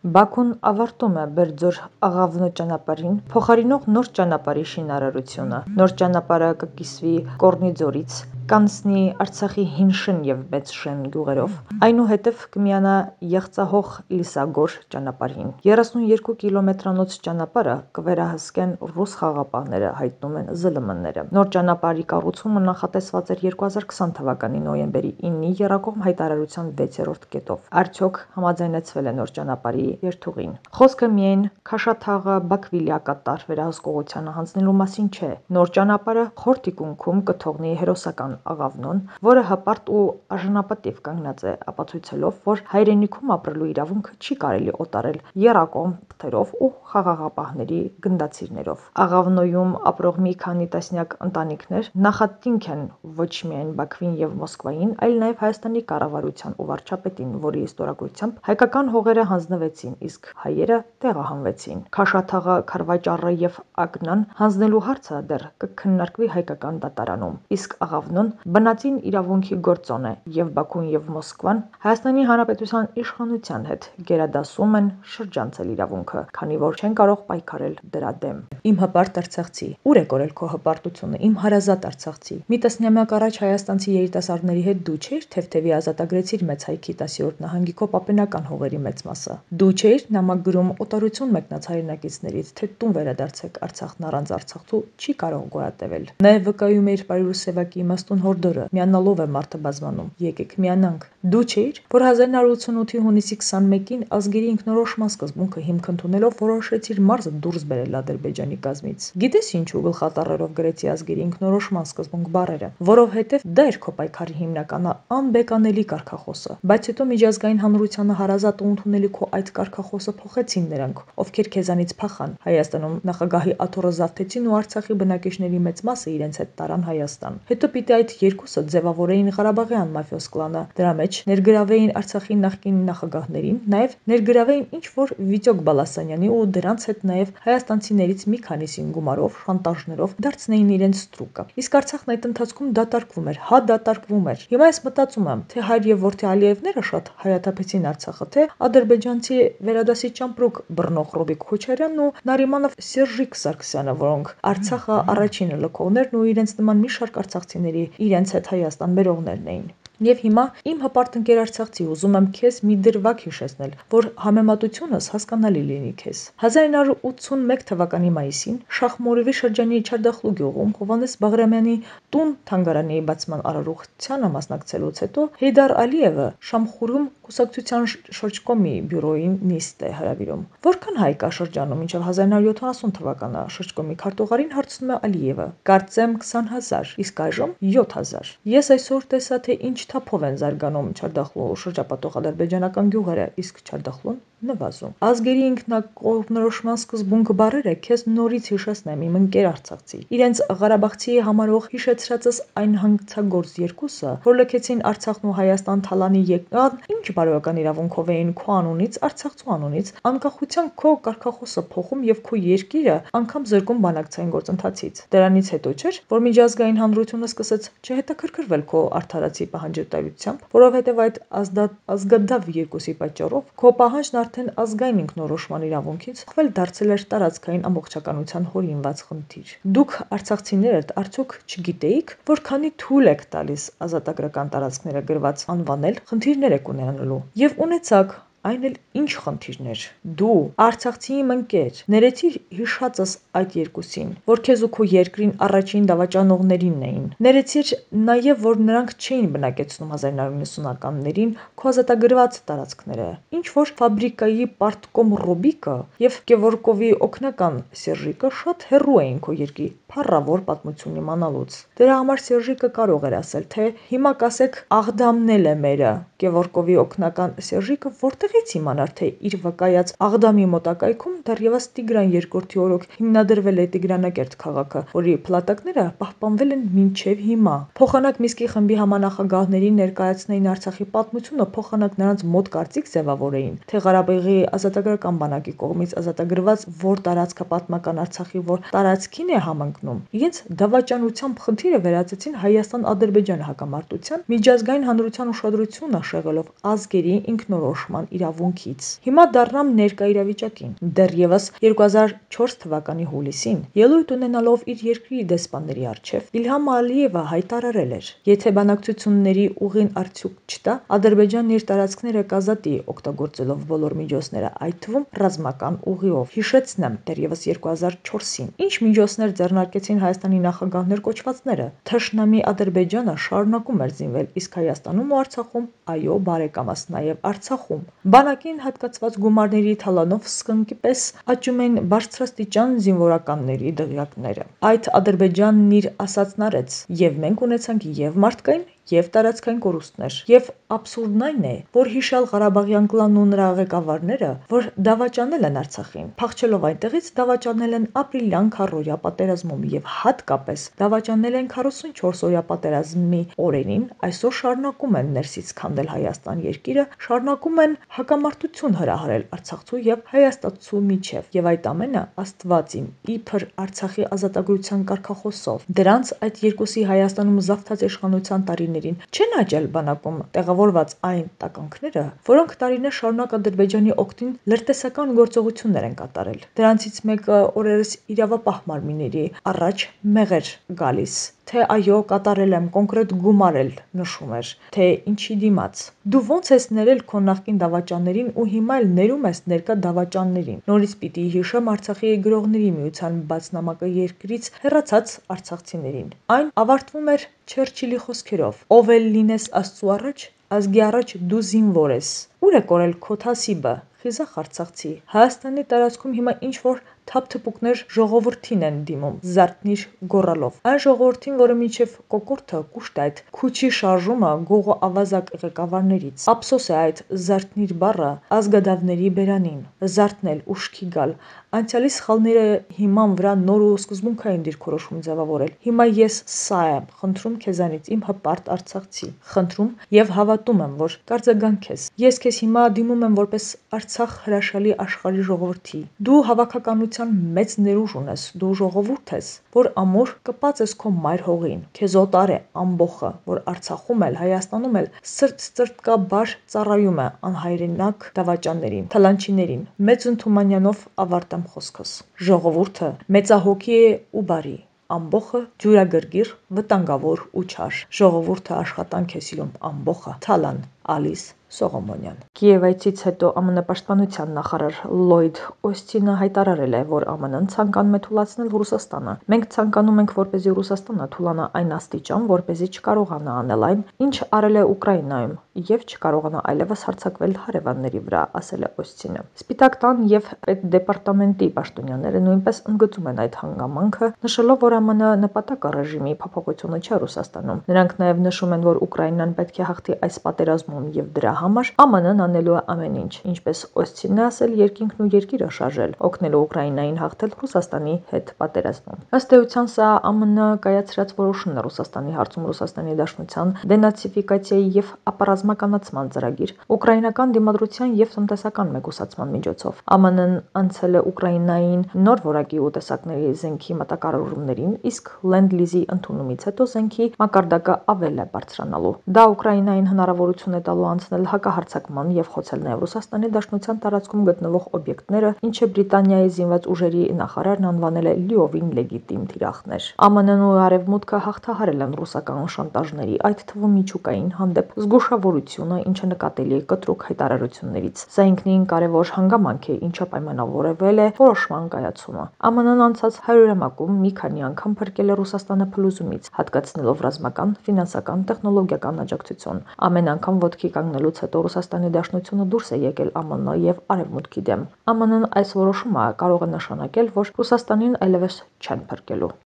Բաքուն ավարտում է Բերձոր-Աղավնո ճանապարհին փոխարինող նոր ճանապարհի շինարարությունը։ Նոր ճանապարհը կկիսվի Կորնիձորից, կանցնի Արցախի Հին Շեն և Մեծ Շեն գյուղերով, այնուհետև կմիանա Եղցահող-Լիսագոր ճանապարհին։ 32 կիլոմետրանոց ճանապարհը կվերահսկեն ռուս խաղաղապահները, հայտնում են ԶԼՄ-ները։ Նոր ճանապարհի կառուցումը նախատեսված էր 2020 թվականի նոյեմբերի 9-ի եռակողմ հայտարարության 6-րդ կետով։ Արդյոք համաձայնեցվել է նոր ճանապարհի երթուղին։ Խոսքը միայն Քաշաթաղը-Բաքվի լիակատար վերահսկողությանը հանձնելու մասին չէ։ Նոր ճանապարհը խոր թիկունքում կթողնի հերոսական Աղավնոն, որը հպարտ ու արժանապատիվ կանգնած է, ապացույցելով, որ հայրենիքում ապրելու իրավունքը չի կարելի օտարել եռակողմ թղթերով ու խաղաղապահների գնդացիրներով։ Աղավնոյում ապրող մի քանի տասնյակ ընտանիքներ նախատինք են ոչ միայն Բաքվին և Մոսկվային, այլ նաև Հայաստանի կառավարության ու վարչապետին, որի ստորագրությամբ հայկական հողերը հանձնվեցին, իսկ հայերը տեղահանվեցին։ Քաշաթաղը, Քարվաճառը և Ակնան հանձնելու հարցը դեռ կքննարկվի հայկական դատարանում, իսկ Աղավնոն բնածին իրավունքի գործոն է, և Բաքուն և Մոսկվան Հայաստանի Հանրապետության իշխանության հետ գերադասում են շրջանցել իրավունքը, քանի որ չեն կարող պայքարել դրա դեմ։ Իմ հպարտ արցախցի, ուր է կորել քո հպարտությունը, իմ հարազատ արցախցի։ Մի տասնամյակ առաջ հայաստանցի երիտասարդների հետ դու չէիր թեթևի ազատագրեցիր Մեծ Հայքի 10-րդ նահանգի քո պապենական հողերի մեծ մասը։ Դու չէիր նամակ գրում օտարություն մեկնած հայրենակիցներից, թե տուն վերադարձեք, Արցախն առանց Արցախցու չի կարող գոյատևել։ Նաև վկայում էիր Պարյուրու Սևակի իմաստուն հորդորը՝ միանալով է մարդը բազմանում, եկեք միանանք։ Դու չէիր, որ 1988-ի հունիսի 21-ին ազգերի ինքնորոշման սկզբունքը հիմք ընդունելով որոշեցիր մարզը դուրս բերել Ադրբեջանի կազմից։ Գիտես ինչու գլխատառերով գրեցի ազգերի ինքնորոշման սկզբունք բառերը, որովհետև դա էր քո պայքարի հիմնական անբեկանելի կարգախոսը։ Բայց հետո միջազգային հանրությանը հարազատ ու ընդունելի քո այդ կարգախոսը փոխեցին նրանք, ովքեր քեզանից փախան, Հայաստանում նախագահի աթոռը զավթեցին ու Արցախի բնակիչների մեծ մասը իրենց հետ տարան Հայաստան։ Հետո պիտի այդ երկուսը ձևավորեին Ղարաբաղյան մաֆիոզ կլանը, դրա մեջ ներգրավեին Արցախի նախկին նախագահներին, նաև ներգրավեին ինչ-որ Վիտյոկ Բալասանյանի ու դրանց հետ նաև հայաստանցիներից մի քանիսին գումարով, շանտաժներով դարձնեին իրենց ստրուկը։ Իսկ Արցախն այդ ընթացքում դատարկվում էր, դատարկվում էր։ Հիմա ես մտածում եմ, թե հայր եւ որդի Ալիևները շատ հայաթափեցին Արցախը, թե ադրբեջանցի վերադասի ճամպրուկ բռնող Ռոբիկ Քոչարյանն ու Նարիմանով Սերժիկ Սարգսյանը, որոնք Արցախը առաջինը լքողներն ու իրենց նման մի շարք արցախցիների իրենց հետ Հայաստան բերողներն էին։ Եվ հիմա իմ հպարտ ընկեր արցախցի, ուզում եմ քեզ մի դրվագ հիշեցնել, որ համեմատությունս հասկանալի լինի քեզ։ 1981 թվականի մայիսին Շախմորովի շրջանի Չարդախլու գյուղում Հովհաննես Բաղրամյանի տուն-թանգարանի բացման արարողությանը մասնակցելուց հետո Հեյդար Ալիևը Շամխուրում կուսակցության շրջկոմի բյուրոյին նիստ է հրավիրում։ Որքան հայ կա շրջանում մինչև 1970 թվականը, շրջկոմի քարտուղարին հարցնում է Ալիևը։ Կարծեմ 20,000, իսկ այժմ 7,000։ Ես այսօր տեսա, թե ինչ թափով են զարգանում Չարդախլու շրջապատող ադրբեջանական գյուղերը, իսկ Չարդախլուն նվազում։ Ազգերի ինքնակողմնորոշման սկզբունք բառերը քեզ նորից հիշեցնեմ, իմ ընկեր արցախցի։ Իրենց Ղարաբաղցի համարող հիշեցրածս այն հանցագործ երկուսը, որ լքեցին Արցախն ու Հայաստան թալանի եկան, ինչ բարոյական իրավունքով էին քո անունից, Արցախցու անունից, անկախության քո կարգախոսը փոխում եւ քո երկիրը անգամ զրկում բանակցային գործընթացից։ Դրանից հետո չէր, որ միջազգային հանրությունը սկսեց չհետաքրքրվել քո արդարացի պահանջատիրությամբ, որովհետեւ այդ ազգադավ երկուսի պատճառով քո պահանջն արդեն ազգային ինքնորոշման իրավունքից խվել դարձել էր տարածքային ամբողջականության հորինված խնդիր։ Դուք արցախցիներդ արդյոք չգիտեիք, որքանի թույլ եք տալիս ազատագրական տարածքները գրված անվանել, խնդիրներ եք ունենալու։ Եվ ունեցաք, այն էլ ինչ խնդիրներ։ Դու արցախցի իմ ընկեր, ներեցիր հիշածս այդ երկուսին, որ քեզ ու քո երկրին առաջին դավաճանողներին էին։ Ներեցիր նաև, որ նրանք չէին բնակեցնում 1990-ականներին քո ազատագրված տարածքները։ Ինչ որ ֆաբրիկայի պարտկոմ Ռոբիկը եւ Կևորկովի օգնական Սերժիկը շատ հեռու էին քո երկրի փառավոր պատմություն իմանալուց։ Դրա համար Սերժիկը կարող էր ասել, թե հիմա կասեք Աղդամն է մերը։ Կևորկովի օգնական Սերժիկը որտեղից իմանար, թե իր վկայած Աղդամի մոտակայքում դեռևս Տիգրան II-ի օրոք հիմնադրվել է Տիգրանակերտ քաղաքը, որի փլատակները պահպանվել են մինչև հիմա։ Փոխանակ Միսկի խմբի համանախագահներին ներկայացնեին Արցախի պատմությունը, փոխանակ նրանց մոտ կարծիք ձևավորեին, թե Ղարաբաղի ազատագրական բանակի կողմից ազատագրված որ տարածքը պատմական Արցախի որ տարածքին է համընկնում, իրենց դավաճանությամբ խնդիրը վերածեցին Հայաստան-Ադրբեջան հակամարտության, միջազգային հանրության ուշադրությունը շեղելով ազգերի ինքնորոշման իրավունքից։ Հիմա դառնամ ներկա իրավիճակին։ Դեռևս 2004 թվականի հուլիսին, ելույթ ունենալով իր երկրի դեսպանների առջև, Իլհամ Ալիևը հայտարարել էր. «Եթե բանակցությունների ուղին արդյունք չտա, Ադրբեջանն իր տարածքները կազատի, օգտագործելով բոլոր միջոցները, այդ թվում ռազմական ուղիով»։ Հիշեցնեմ, դեռևս 2004-ին ինչ միջոցներ ձեռնարկեցին Հայաստանի նախագահներ կոչվածները։ Թշնամի Ադրբեջանը շարունակում էր զինվել, իսկ Հայաստանում ու Արցախում, այո, բարեկամս, նաև Արցախում բանակին հատկացված գումարների թալանով սկնկի պես աճում էին բարձրաստիճան զինվորականների դղյակները։ Այդ Ադրբեջանն իր ասածն արեց, եւ մենք ունեցանք եւ մարդկային, եւ տարածքային կորուստներ։ Եվ աբսուրդն այն է, որ հիշյալ Ղարաբաղյան կլանն ու նրա ղեկավարները, որ դավաճանել են Արցախին, փախչելով այնտեղից դավաճանել են ապրիլյան քառօրյա պատերազմում եւ հատկապես դավաճանել են 44-օրյա պատերազմի օրերին, այսօր շարունակում են ներսից քանդել Հայաստան երկիրը, շարունակում են հակամարտություն հրահրել արցախցու եւ հայաստանցու միջև։ Եվ այդ ամենը Աստված իմ իբր Արցախի ազատագրության կարգախոսով։ Դրանց այդ երկուսի Հայաստանում զավթած իշխանության տարիներին չեն աճել բանակում տեղավորված այն տականքները, որոնք տարիներ շարունակ Ադրբեջանի օգտին լրտեսական գործողություններ են կատարել։ Դրանցից մեկը օրերս իրավապահ մարմինների առաջ մեղր գալիս, թե այո, կատարել եմ, կոնկրետ գումար էլ նշում էր, թե ինչի դիմաց։ Դու ո՞նց ես ներել քո նախկին դավաճաններին ու հիմա էլ ներում ես ներկա դավաճաններին։ Նորից պիտի հիշեմ Արցախի գրողների միության բացնամակը երկրից հեռացած արցախցիներին։ Այն ավարտվում էր Չերչիլի խոսքերով. «Ով էլ լինես Աստծու առաջ, ազգի առաջ դու զինվոր ես»։ Ուր է կորել քո թասիբը, խիզախ արցախցի։ Հայաստանի տարածքում հիմա ինչ որ թափթփուկներ ժողովրդին են դիմում, զարթնիր գոռալով։ Այն ժողովրդին, որը մինչև կոկորդը կուշտ է այդ քուչի շարժումը գողո ավազակ ղեկավարներից։ Ափսոս է այդ զարթնիր բառը ազգադավների բերանին։ Զարթնել, ուշքի գալ, անցյալի սխալները հիման վրա նոր ու սկզբունքային դիրքորոշում ձևավորել։ Հիմա ես սա եմ խնդրում քեզանից, իմ հպարտ արցախցի, խնդրում եւ հավատում եմ, որ կարձագանքես։ Ես քեզ հիմա դիմում եմ որպես Արցախ հրաշալի աշխարհի ժողովրդի։ Դու հավաքականության մեծ ներուժ ունես, դու ժողովուրդ ես, որ ամուր կպած ես քո մայր հողին։ Քեզ օտար է ամբոխը, որ Արցախում էլ, Հայաստանում էլ սրտկաբար ծառայում է անհայրենակ դավաճաններին, թալանչիներին։ Մեծ Թումանյանով ավարտեմ խոսքս։ Ժողովուրդը մեծահոգի է ու բարի, ամբոխը ջուրագրգիռ, վտանգավոր ու չար։ Ժողովուրդը աշխատանք է սիրում, ամբոխը թալան։ Ալիս Սողոմոնյան։ Կիևայցից հետո ԱՄՆ պաշտպանության նախարար Լլոյդ Օսթինը հայտարարել է, որ ԱՄՆ-ն ցանկանում է թուլացնել Ռուսաստանը։ Մենք ցանկանում ենք, որպեսզի Ռուսաստանը թուլանա այն աստիճան, որպեսզի չկարողանա անել այն, ինչ արել է Ուկրաինայում, եւ չկարողանա այլևս հարձակվել հարևանների վրա, ասել է Օսթինը։ Սպիտակ տան եւ պետդեպարտամենտի պաշտոնյաները նույնպես ընդգծում են այդ հանգամանքը, նշելով, որ ԱՄՆ նպատակը ռեժիմի փոփոխությունը չէ Ռուսաստանում։ Նրանք նաեւ նշում են, որ Ուկրաինան պետք է հաղթի այս պատերազմում եւ դրա համար ԱՄՆ-ն անելու է ամեն ինչ, ինչպես Օսթինն է ասել, երկինքն ու երկիրը շարժել, օգնելու Ուկրաինային հաղթել Ռուսաստանի հետ պատերազմում։ Ըստ էության սա ԱՄՆ կայացրած որոշումն է Ռուսաստանի հարցում Ռուսաստանի Դաշնության դենացիֆիկացիայի եւ ապառազմականացման ծրագիր, ուկրաինական դիմադրության եւ տնտեսական մեկուսացման միջոցով։ ԱՄՆ-ն անցել է Ուկրաինային նոր որակի ու տեսակների զենքի մատակարարումներին, իսկ Լենդ-լիզի ընդունումից հետո զենքի մակարդակը ավել է բարձրանալու։ Դա Ուկրաինային հնարավորություն է տալու անցնել հակահարձակման եւ խոցել նաեւ Ռուսաստանի Դաշնության տարածքում գտնվող օբյեկտները, ինչը Բրիտանիայի զինված ուժերի նախարարն անվանել է լիովին լեգիտիմ թիրախներ։ ԱՄՆ-ն ու Արևմուտքը հաղթահարել են ռուսական շանտաժների, այդ թվում միջուկային հանդեպ զգուշավորությունը, ինչը նկատելի է կտրուկ հայտարարություններից։ Սա ինքնին կարևոր հանգամանք է, ինչը պայմանավորվել է որոշման կայացումը։ ԱՄՆ-ն անցած 100-ամյակում մի քանի անգամ փրկել է Ռուսաստանը փլուզումից, հատկացնելով ռազմական, ֆինանսական, տեխնոլոգիական աջակցություն։ Ամեն անգամ ոտքի կանգնելուց հետո Ռուսաստանի Դաշնությունը դուրս է եկել ԱՄՆ եւ Արևմուտքի դեմ։ ԱՄՆ-ն այս որոշումը կարող է նշանակել, որ Ռուսաստանին այլևս չեն փրկելու։